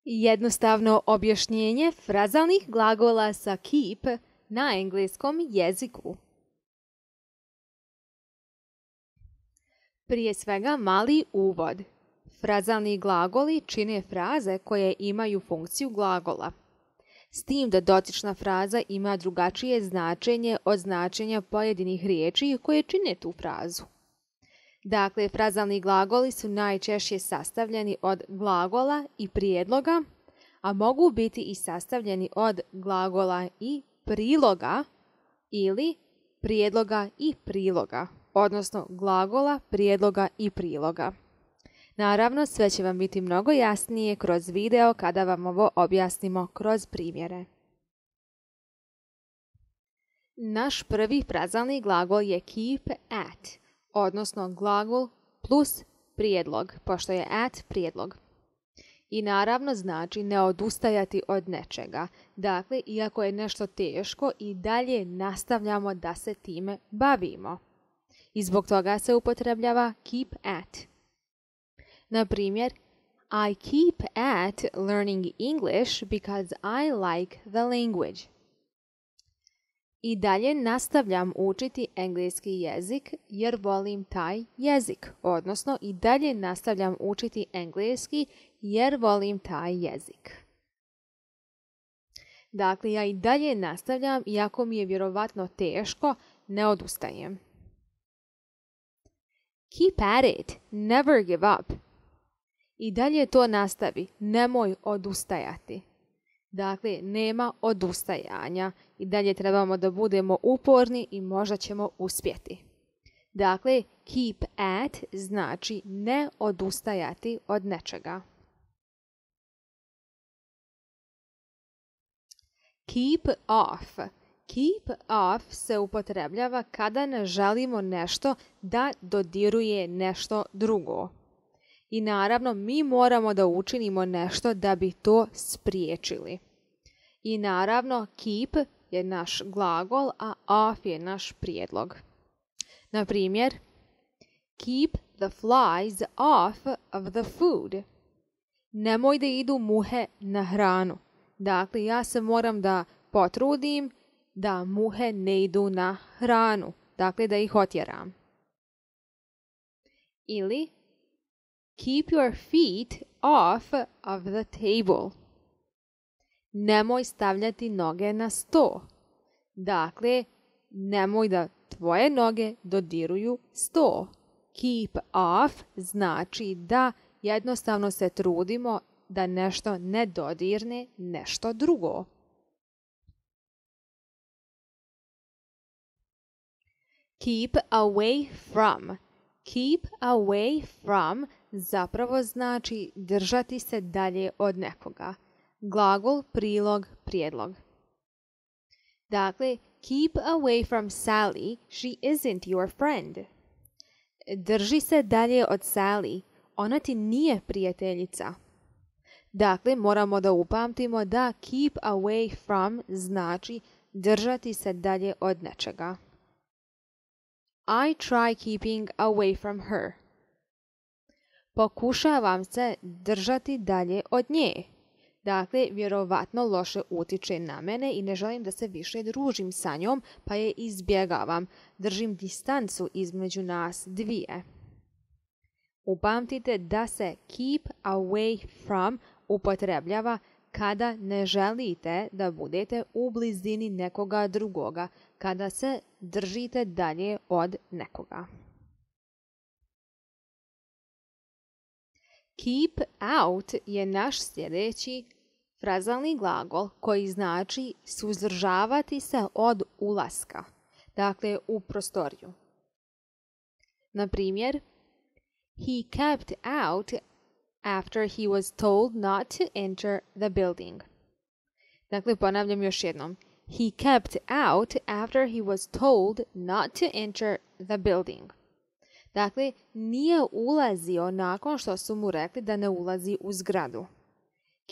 Jednostavno objašnjenje frazalnih glagola sa keep na engleskom jeziku. Prije svega mali uvod. Frazalni glagoli čine fraze koje imaju funkciju glagola. S tim da dotična fraza ima drugačije značenje od značenja pojedinih riječi koje čine tu frazu. Dakle, frazalni glagoli su najčešće sastavljeni od glagola i prijedloga, a mogu biti i sastavljeni od glagola i priloga ili prijedloga i priloga, odnosno glagola, prijedloga i priloga. Naravno, sve će vam biti mnogo jasnije kroz video kada vam ovo objasnimo kroz primjere. Naš prvi frazalni glagol je keep at, odnosno glagol plus prijedlog, pošto je at prijedlog. I naravno znači ne odustajati od nečega. Dakle, iako je nešto teško, i dalje nastavljamo da se time bavimo. I zbog toga se upotrebljava keep at. Na primjer, I keep at learning English because I like the language. I dalje nastavljam učiti engleski jezik jer volim taj jezik, odnosno i dalje nastavljam učiti engleski jer volim taj jezik. Dakle, ja i dalje nastavljam, iako mi je vjerovatno teško, ne odustajem. Keep at it, never give up. I dalje to nastavi, nemoj odustajati. Dakle, nema odustajanja. I dalje trebamo da budemo uporni i možda ćemo uspjeti. Dakle, keep at znači ne odustajati od nečega. Keep off. Keep off se upotrebljava kada ne želimo nešto da dodiruje nešto drugo. I naravno, mi moramo da učinimo nešto da bi to spriječili. I naravno, keep je naš glagol, a off je naš prijedlog. Na primjer, keep the flies off of the food. Nemoj da idu muhe na hranu. Dakle, ja se moram da potrudim da muhe ne idu na hranu. Dakle, da ih otjeram. Ili keep your feet off of the table. Nemoj stavljati noge na sto. Dakle, nemoj da tvoje noge dodiruju sto. Keep off znači da jednostavno se trudimo da nešto ne dodirne nešto drugo. Keep away from. Keep away from zapravo znači držati se dalje od nekoga. Glagol, prilog, prijedlog. Dakle, keep away from Sally, she isn't your friend. Drži se dalje od Sally, ona ti nije prijateljica. Dakle, moramo da upamtimo da keep away from znači držati se dalje od nečega. I try keeping away from her. Pokušavam se držati dalje od nje. Dakle, vjerovatno loše utiče na mene i ne želim da se više družim sa njom, pa je izbjegavam. Držim distancu između nas dvije. Upamtite da se keep away from upotrebljava kada ne želite da budete u blizini nekoga drugoga, kada se držite dalje od nekoga. Keep out je naš sljedeći frazalni glagol koji znači suzdržavati se od ulaska, dakle u prostoriju. Na primjer, he kept out after he was told not to enter the building. Dakle, ponavljam još jednom. He kept out after he was told not to enter the building. Dakle, nije ulazio nakon što su mu rekli da ne ulazi u zgradu.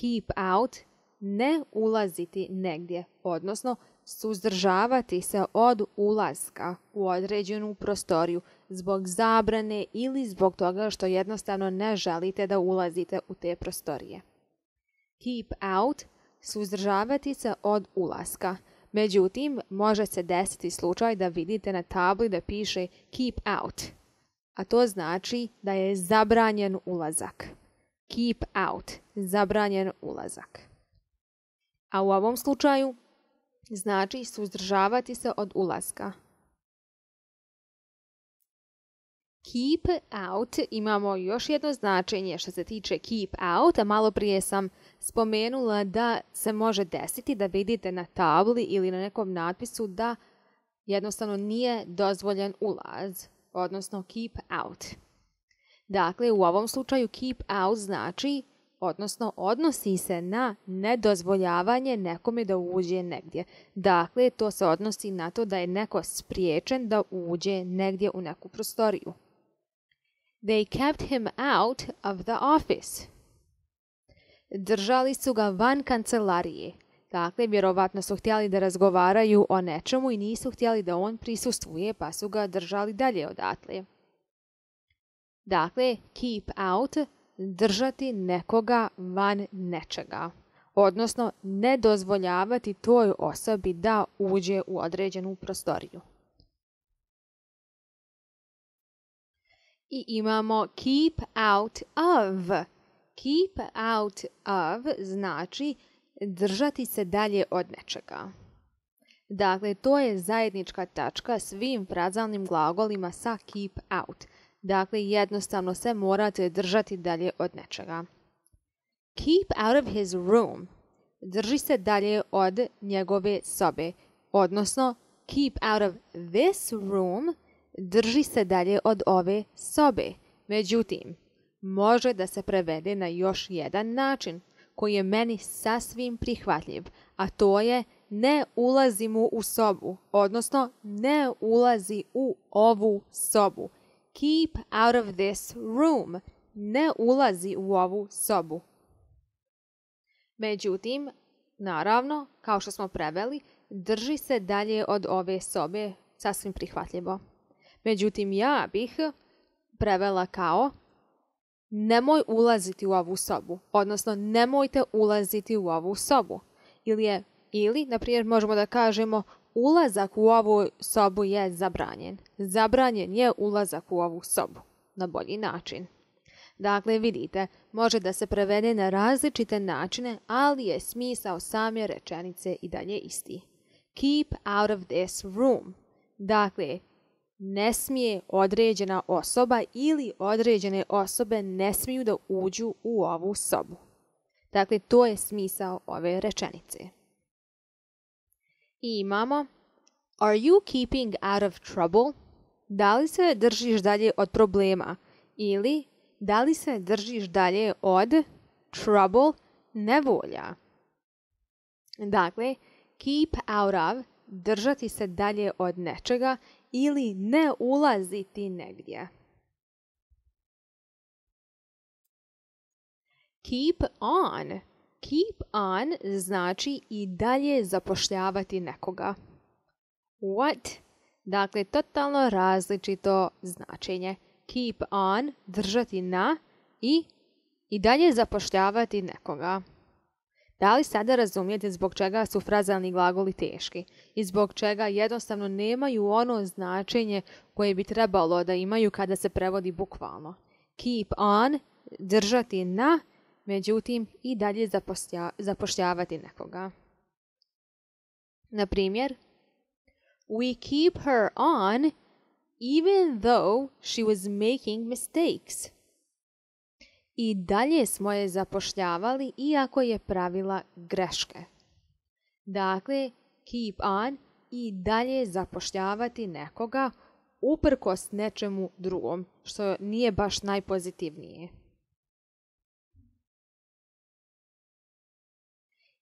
Keep out, ne ulaziti negdje, odnosno suzdržavati se od ulaska u određenu prostoriju zbog zabrane ili zbog toga što jednostavno ne želite da ulazite u te prostorije. Keep out, suzdržavati se od ulaska. Međutim, može se desiti slučaj da vidite na tabli da piše keep out, a to znači da je zabranjen ulazak. Keep out, zabranjen ulazak. A u ovom slučaju znači suzdržavati se od ulaska. Keep out imamo još jedno značenje što se tiče keep out, a malo prije sam spomenula da se može desiti da vidite na tabli ili na nekom natpisu da jednostavno nije dozvoljen ulaz, odnosno keep out. Dakle, u ovom slučaju keep out znači, odnosno odnosi se na nedozvoljavanje nekome da uđe negdje. Dakle, to se odnosi na to da je neko spriječen da uđe negdje u neku prostoriju. They kept him out of the office. Držali su ga van kancelarije. Dakle, vjerovatno su htjeli da razgovaraju o nečemu i nisu htjeli da on prisustvuje, pa su ga držali dalje odatle. Dakle, keep out, držati nekoga van nečega. Odnosno, ne dozvoljavati toj osobi da uđe u određenu prostoriju. I imamo keep out of. Keep out of znači držati se dalje od nečega. Dakle, to je zajednička tačka svim frazalnim glagolima sa keep out. Dakle, jednostavno se morate držati dalje od nečega. Keep out of his room. Drži se dalje od njegove sobe. Odnosno, keep out of this room. Drži se dalje od ove sobe. Međutim, može da se prevede na još jedan način koji je meni sasvim prihvatljiv, a to je ne ulazi mu u sobu, odnosno ne ulazi u ovu sobu. Keep out of this room. Ne ulazi u ovu sobu. Međutim, naravno, kao što smo preveli, drži se dalje od ove sobe, sasvim prihvatljivo. Međutim, ja bih prevela kao nemoj ulaziti u ovu sobu, odnosno nemojte ulaziti u ovu sobu. Ili, na primjer, možemo da kažemo ulazak u ovu sobu je zabranjen. Zabranjen je ulazak u ovu sobu, na bolji način. Dakle, vidite, može da se prevede na različite načine, ali je smisao same rečenice i dalje isti. Keep out of this room. Dakle, ne smije određena osoba ili određene osobe ne smiju da uđu u ovu sobu. Dakle, to je smisao ove rečenice. I imamo Are you keeping out of trouble? Da li se držiš dalje od problema? Ili da li se držiš dalje od trouble, nevolja? Dakle, keep out of, držati se dalje od nečega ili ne ulaziti negdje. Keep on. Keep on znači i dalje zapošljavati nekoga. What? Dakle, totalno različito značenje. Keep on, držati na i dalje zapošljavati nekoga. Da li sada razumijete zbog čega su frazalni glagoli teški i zbog čega jednostavno nemaju ono značenje koje bi trebalo da imaju kada se prevodi bukvalno? Keep on, držati na, međutim i dalje zapošljavati nekoga. Na primjer, We keep her on even though she was making mistakes. I dalje smo je zapošljavali iako je pravila greške. Dakle, keep on i dalje zapošljavati nekoga uprkos nečemu drugom, što nije baš najpozitivnije.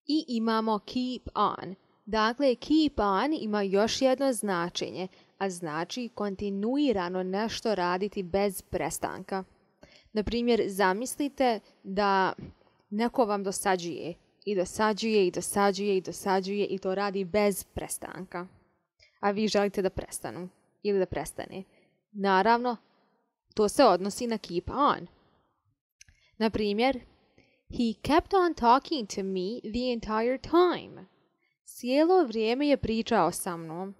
I imamo keep on. Dakle, keep on ima još jedno značenje, a znači kontinuirano nešto raditi bez prestanka. Na primjer, zamislite da neko vam dosađuje i dosađuje i dosađuje i dosađuje i to radi bez prestanka. A vi želite da prestanu ili da prestane. Naravno, to se odnosi na keep on. Na primjer, He kept on talking to me the entire time. Cijelo vrijeme je pričao sa mnom.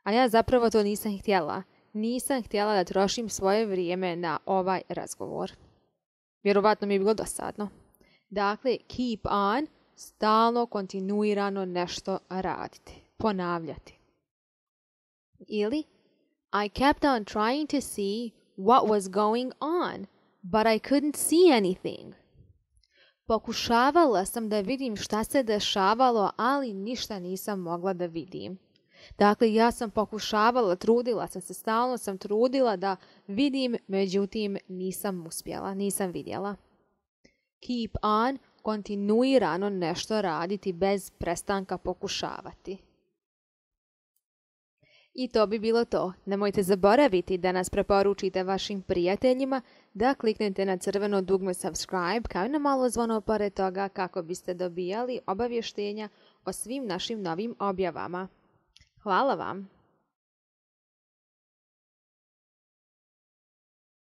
A ja zapravo to nisam htjela. Nisam htjela da trošim svoje vrijeme na ovaj razgovor. Vjerovatno mi je bilo dosadno. Dakle, keep on, stalno, kontinuirano nešto raditi. Ponavljati. Ili, I kept on trying to see what was going on, but I couldn't see anything. Pokušavala sam da vidim šta se dešavalo, ali ništa nisam mogla da vidim. Dakle, ja sam pokušavala, trudila sam se, stalno sam trudila da vidim, međutim nisam uspjela, nisam vidjela. Keep on, kontinuirano nešto raditi bez prestanka pokušavati. I to bi bilo to. Nemojte zaboraviti da nas preporučite vašim prijateljima, da kliknete na crveno dugme subscribe kao i na malo zvono pored toga kako biste dobijali obavještenja o svim našim novim objavama. Hvala vam!